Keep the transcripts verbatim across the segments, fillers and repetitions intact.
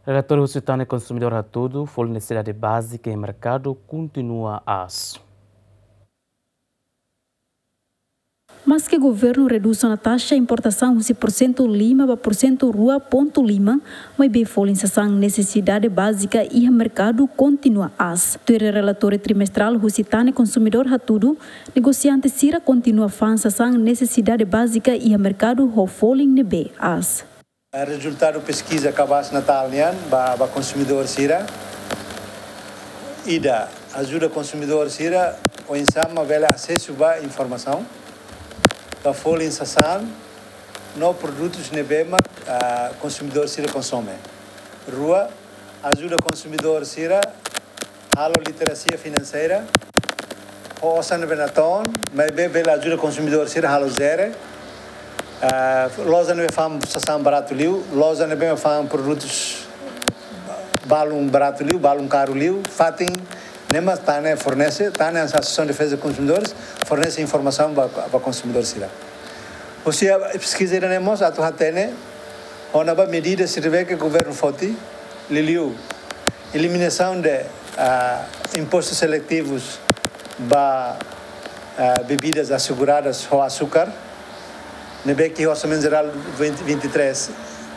Relatóriu husi Tan Konsumidór hatudu, folin nesesidade bázika iha merkadu kontinua aas. Maske governu redús ona taxa importasaun husi porsentu lima ba porsentu rua pontu lima, maibé folin sasán nesesidade bázika iha merkadu kontinua aas. Tuir relatóriu trimestrál husi Tan Konsumidór hatudu, negosiante sira kontinua fa'an sasán nesesidade bázika iha merkadu ho folin ne'ebé aas. Rezultadu peskiza kabas Natál nian ba, ba konsumidór sira. Ida, ajuda konsumidór sira oinsá mak bele asesu ba informasaun ba folin sasán no produtus ne'ebé mak, ah, konsumidór sira konsome. Rua, ajuda konsumidór sira halo literasia finanseira ho osan ne'ebé natoon, maibé bele ajuda konsumidór sira halo jere. Ah, loja ne'ebé fa'an sasán baratu liu, loja ne'ebé fa'an produtus balun baratu liu, balun karu liu, fatin ne'e mak Tan fornese, Tan Asosiasaun Defeza Konsumidores fornese informasaun ba, ba konsumidór sira. Husi peskiza ida-ne'e mós atu hatene ona ba medidas sira ne'ebé ke governu foti, liuliu eliminasaun de, ah, impostus seletivus ba, ah, bebidas aseguradas ho asúkar, ne'ebé ke Orsamentu Jerál vinte vinte e três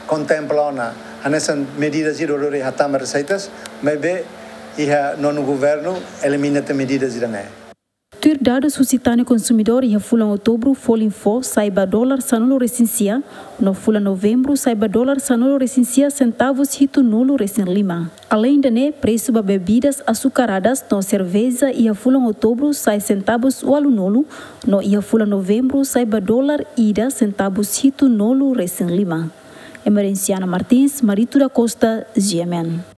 kontempla ona hanesan medidas ida hodi hatama reseitas, maibé iha nonu governu elimina tiha medidas ida-ne'e. Tuir dadus husi Tan Konsumidór, iha fulan Outubru folin fó sa'e ba dolar sanulu-resin-sia, no fulan Novembru sa'e ba dolar sanulu-resin-sia sentavus hitunulu-resin-lima. Aleinde ne'e, presu ba bebidas asukaradas no serveja iha fulan Outubru sa'e sentavus ualunulu, no iha fulan Novembru sa'e ba dolar ida sentavus hitunulu-resin-lima. Emerenciana Martins, Marito da Costa, G M N.